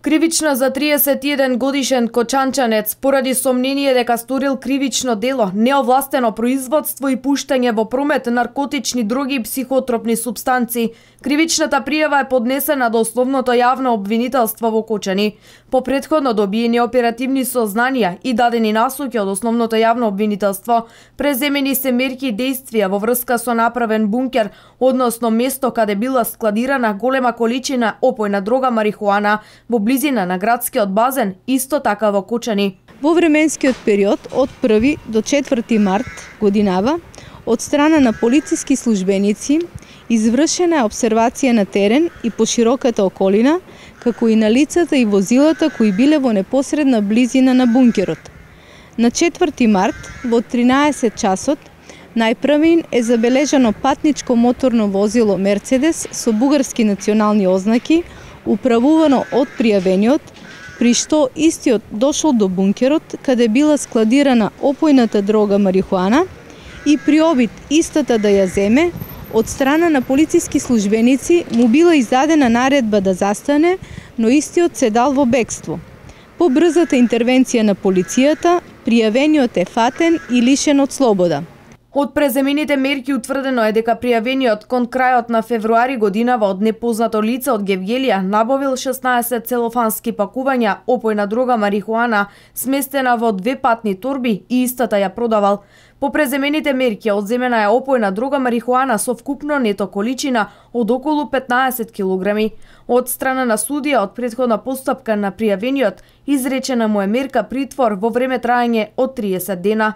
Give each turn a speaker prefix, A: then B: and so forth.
A: Кривична за 31 годишен кочанчанец поради сомнение дека сторил кривично дело, неовластено производство и пуштање во промет наркотични дроги и психотропни супстанции. Кривичната пријава е поднесена до Основното јавно обвинителство во Кочани. По претходно добиени оперативни сознанија и дадени насоки од Основното јавно обвинителство, преземени се мерки и действија во врска со направен бункер, односно место каде била складирана голема количина опојна дрога марихуана во близина на градскиот базен, исто така во Кочани.
B: Во временскиот период од 1 до 4 март годинава, од страна на полициски службеници, извршена е обсервација на терен и по широката околина, како и на лицата и возилата кои биле во непосредна близина на бункерот. На 4 март, во 13 часот, најпрвин е забележано патничко моторно возило Мерцедес со бугарски национални ознаки, управувано од пријавениот, при што истиот дошол до бункерот, каде била складирана опојната дрога марихуана и при обид истата да ја земе, од страна на полициски службеници му била издадена наредба да застане, но истиот се дал во бегство. По брзата интервенција на полицијата, пријавениот е фатен и лишен од слобода.
A: Од преземените мерки утврдено е дека пријавениот кон крајот на февруари годинава од непознато лице од Гевгелија набавил 16 целофански пакувања опојна дрога марихуана сместена во 2 патни торби и истата ја продавал. По преземените мерки одземена е опојна дрога марихуана со вкупно нето количина од околу 15 килограми. Од страна на судија од претходна постапка на пријавениот изречена му е мерка притвор во време траење од 30 дена.